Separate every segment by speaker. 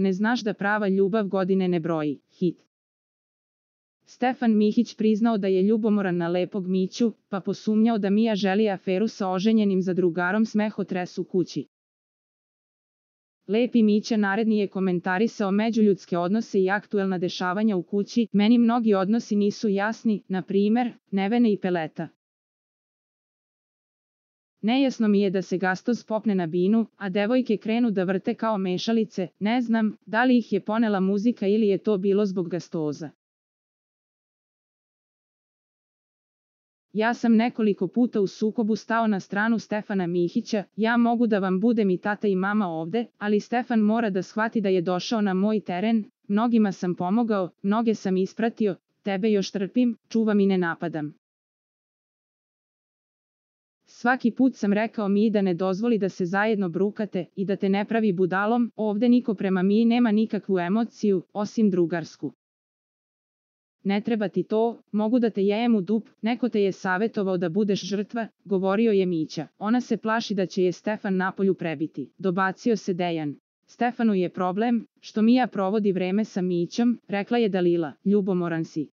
Speaker 1: ne znaš da prava ljubav godine ne broji. Hit. Stefan Mihić priznao da je ljubomoran na lepog Miću, pa posumnjao da Mija želi aferu sa oženjenim zadrugarom Smehotres u kući. Lepi Mića naredni je komentarisao međuljudske odnose i aktuelna dešavanja u kući. Meni mnogi odnosi nisu jasni, na primer, Nevene i Peleta. Nejasno mi je da se Gastoz popne na binu, a devojke krenu da vrte kao mešalice, ne znam, da li ih je ponela muzika ili je to bilo zbog Gastoza. Ja sam nekoliko puta u sukobu stao na stranu Stefana Mihića, ja mogu da vam budem i tata i mama ovde, ali Stefan mora da shvati da je došao na moj teren, mnogima sam pomogao, mnoge sam ispratio, tebe još trpim, čuvam i ne napadam. Svaki put sam rekao Miji da ne dozvoli da se zajedno brukate i da te ne pravi budalom, ovde niko prema Miji nema nikakvu emociju, osim drugarsku. Ne treba ti to, mogu da te jejem u dup, neko te je savetovao da budeš žrtva, govorio je Mića. Ona se plaši da će je Stefan napolju prebiti, dobacio se Dejan. Stefanu je problem, što Mija provodi vreme sa Mićom, rekla je Dalila, ljubomoran si.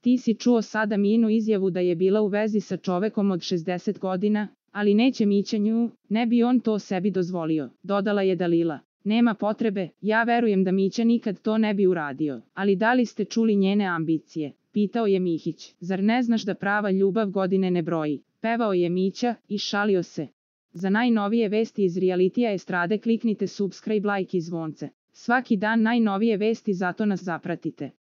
Speaker 1: Ti si čuo sada Mijinu izjavu da je bila u vezi sa čovekom od 60 godina, ali neće Mića nju, ne bi on to sebi dozvolio, dodala je Dalila. Nema potrebe, ja verujem da Mića nikad to ne bi uradio, ali da li ste čuli njene ambicije? Pitao je Mihić. Zar ne znaš da prava ljubav godine ne broji? Pevao je Mića i šalio se. Za najnovije vesti iz realitija estrade kliknite subscribe, like i zvonce. Svaki dan najnovije vesti, zato nas zapratite.